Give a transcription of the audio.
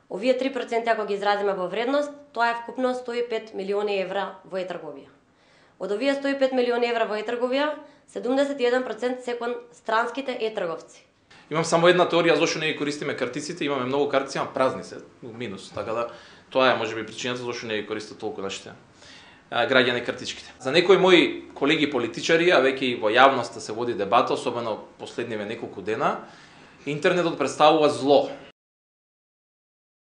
Овие 3% ако ги изразиме во вредност, тоа е вкупно 105 милиони евра во e-трговија. Од овие 105 милиони евра во e-трговија, 71% се кон странските e-трговци. Имам само една теорија зошто не ги користиме картиците, имаме многу картици, ама празни се, минус, така да тоа е можеби причината зошто не ги користат толку нашите граѓани картичките. За некои мои колеги политичари, а веќе и во јавноста се води дебата, особено последниве неколку дена, интернетот представува зло.